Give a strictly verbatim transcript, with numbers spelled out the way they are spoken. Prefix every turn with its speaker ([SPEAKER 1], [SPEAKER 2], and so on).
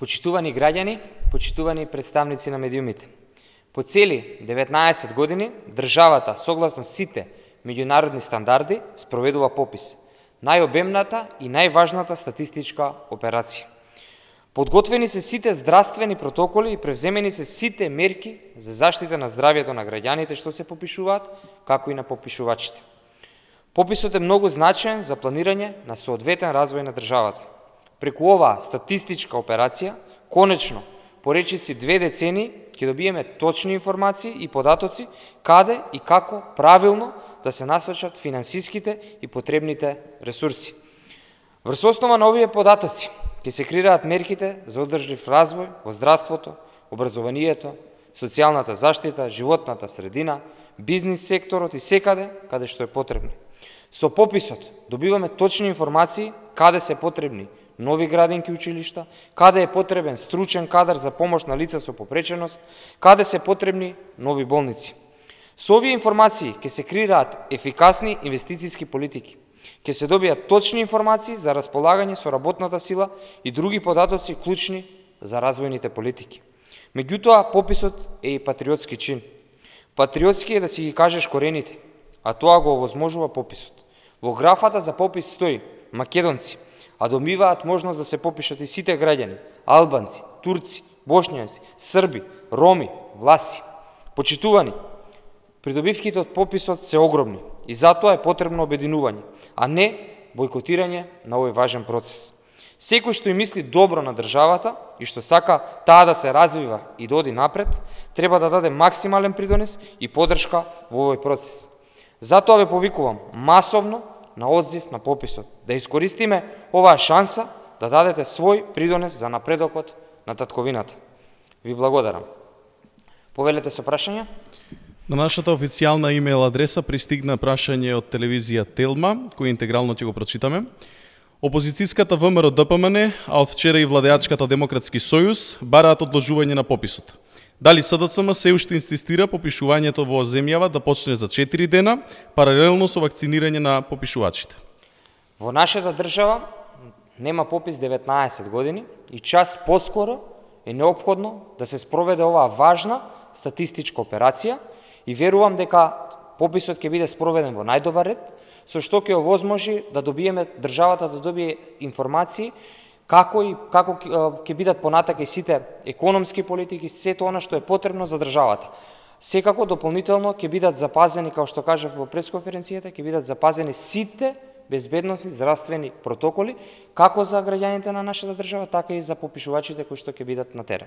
[SPEAKER 1] Почитувани граѓани, почитувани представници на медиумите. По цели деветнаесет години државата, согласно сите меѓународни стандарди, спроведува попис, најобемната и најважната статистичка операција. Подготвени се сите здравствени протоколи и превземени се сите мерки за заштита на здравјето на граѓаните што се попишуваат, како и на попишувачите. Пописот е многу значаен за планирање на соодветен развој на државата. Преку оваа статистичка операција, конечно, по речиси две децении, ќе добиеме точни информации и податоци каде и како правилно да се насочат финансиските и потребните ресурси. Врз основа на овие податоци ќе се креираат мерките за одржлив развој во здравството, образованието, социјалната заштита, животната средина, бизнис секторот и секаде каде што е потребно. Со пописот добиваме точни информации каде се потребни нови градинки училишта, каде е потребен стручен кадар за помош на лица со попреченост, каде се потребни нови болници. Со овие информации ќе се креираат ефикасни инвестициски политики, ќе се добијат точни информации за располагање со работната сила и други податоци клучни за развојните политики. Меѓутоа, пописот е и патриотски чин. Патриотски е да си ги кажеш корените, а тоа го овозможува пописот. Во графата за попис стои македонци, а добиваат можност да се попишат и сите граѓани, албанци, турци, бошњаци, срби, роми, власи. Почитувани, придобивките од пописот се огромни и затоа е потребно обединување, а не бойкотирање на овој важен процес. Секој што и мисли добро на државата и што сака таа да се развива и да оди напред, треба да даде максимален придонес и поддршка во овој процес. Затоа ве повикувам масовно на одзив на пописот, да искористиме оваа шанса да дадете свој придонес за напредокот на татковината. Ви благодарам. Повелете со прашања?
[SPEAKER 2] На нашата официјална имејл адреса пристигна прашање од телевизија Телма, кој интегрално ќе го прочитаме. Опозицијската ВМРО Д П М Н, а од вчера и владеачката Демократски сојуз, бараат одложување на пописот. Дали С Д С М се уште инсистира попишувањето во земјава да почне за четири дена, паралелно со вакцинирање на попишувачите?
[SPEAKER 1] Во нашата држава нема попис деветнаесет години и час поскоро е неопходно да се спроведе оваа важна статистичка операција и верувам дека пописот ќе биде спроведен во најдобар ред, со што ќе овозможи да добиеме државата да добие информации како и како ќе бидат понатака и сите економски политики, сето она што е потребно за државата. Секако дополнително ќе бидат запазени, како што кажав во пресконференцијата, ќе бидат запазени сите безбедносни здравствени протоколи, како за граѓаните на нашата држава, така и за попишувачите кои што ќе бидат на терен.